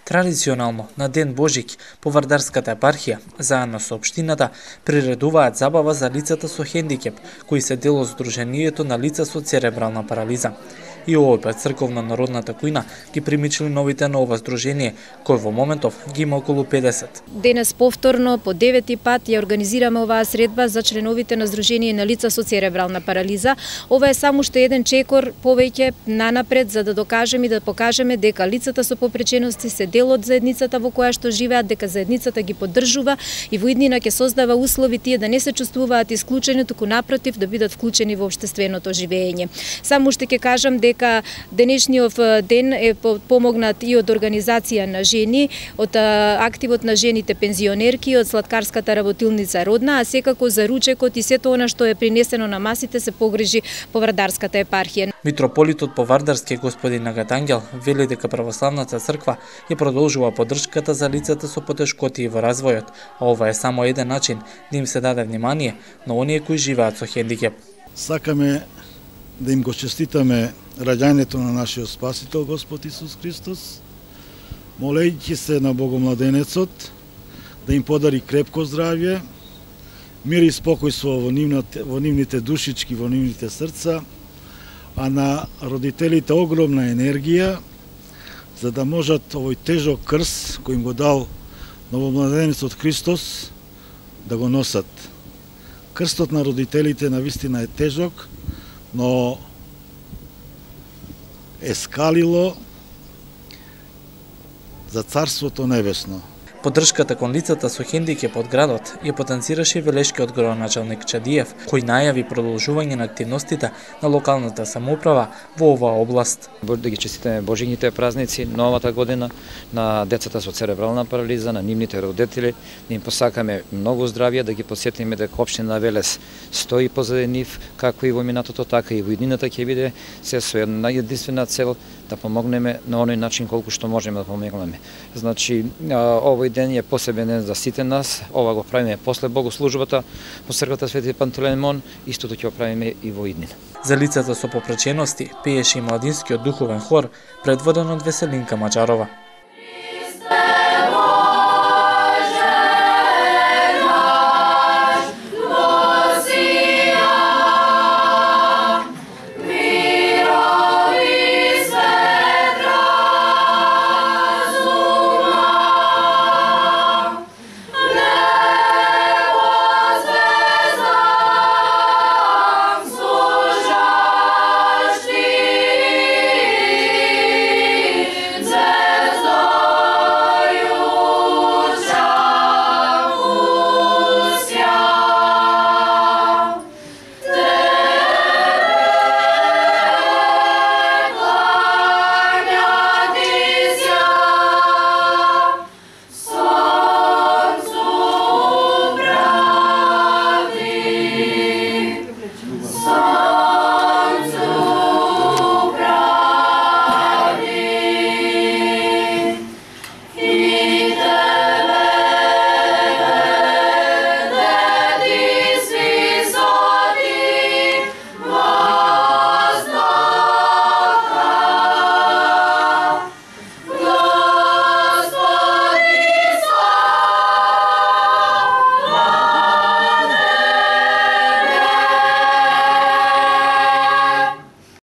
Традиционално, на Ден Божик, по Вардарската епархија, заедно со општината, приредуваат забава за лицата со хендикеп, кои се дел од Сдруженијето на лица со церебрална парализа. И овој пат црковна народната кујна ги примичили новите на ова здружение, кој во моментов ги има околу 50. Денес повторно, по 9-ти пат, ја организираме оваа средба за членовите на Здружение на лица со церебрална парализа. Ова е само уште еден чекор повеќе нанапред, за да докажеме и да покажеме дека лицата со попречености се дел од заедницата во која што живеат, дека заедницата ги поддржува и во иднина ќе создава услови тие да не се чувствуваат исклучени, туку напротив да бидат вклучени во општественото живење. Само уште ќе кажам дека денешниот ден е помогнат и од организација на жени, од активот на жените пензионерки, од сладкарската работилница Родна, а секако за ручекот и сето она што е принесено на масите се погрижи по Вардарската епархија. Митрополитот по Вардарски господин Агатангел вели дека православната црква ја продолжува поддршката за лицата со потешкотии во развојот, а ова е само еден начин да им се даде внимание на оние кои живеат со хендикеп. Сакаме да им го честитаме раѓањето на нашиот Спасител Господ Исус Христос, молејќи се на Богомладенецот да им подари крепко здравје, мир и спокојство во нивните душички, во нивните срца, а на родителите огромна енергија, за да можат овој тежок крст кој им го дал Новомладенецот Христос да го носат. Крстот на родителите навистина е тежок, но е скалило за Царството Небесно. Поддршката кон лицата со хендикеп од градот ја потенцираше велешки од градоначалник Чадиев, кој најави продолжување на активностите на локалната самоуправа во оваа област. Да ги честитаме Божињите празници, новата година, на децата со церебрална парализа, на нивните родители, да им посакаме многу здравје, да ги посетиме дека општина Велес стои позади нив, како и во минатото, така и во иднината ќе биде се со една единствена цел да помогнеме на оној начин колку што можеме да помогнеме. Значи, овој ден е посебен ден за сите нас. Ова го правиме после богослужбата во црквата Свети Пантелеймон, истото ќе го правиме и во иднина. За лицата со попречености пееше и младинскиот духовен хор предводен од Веселинка Маџарова.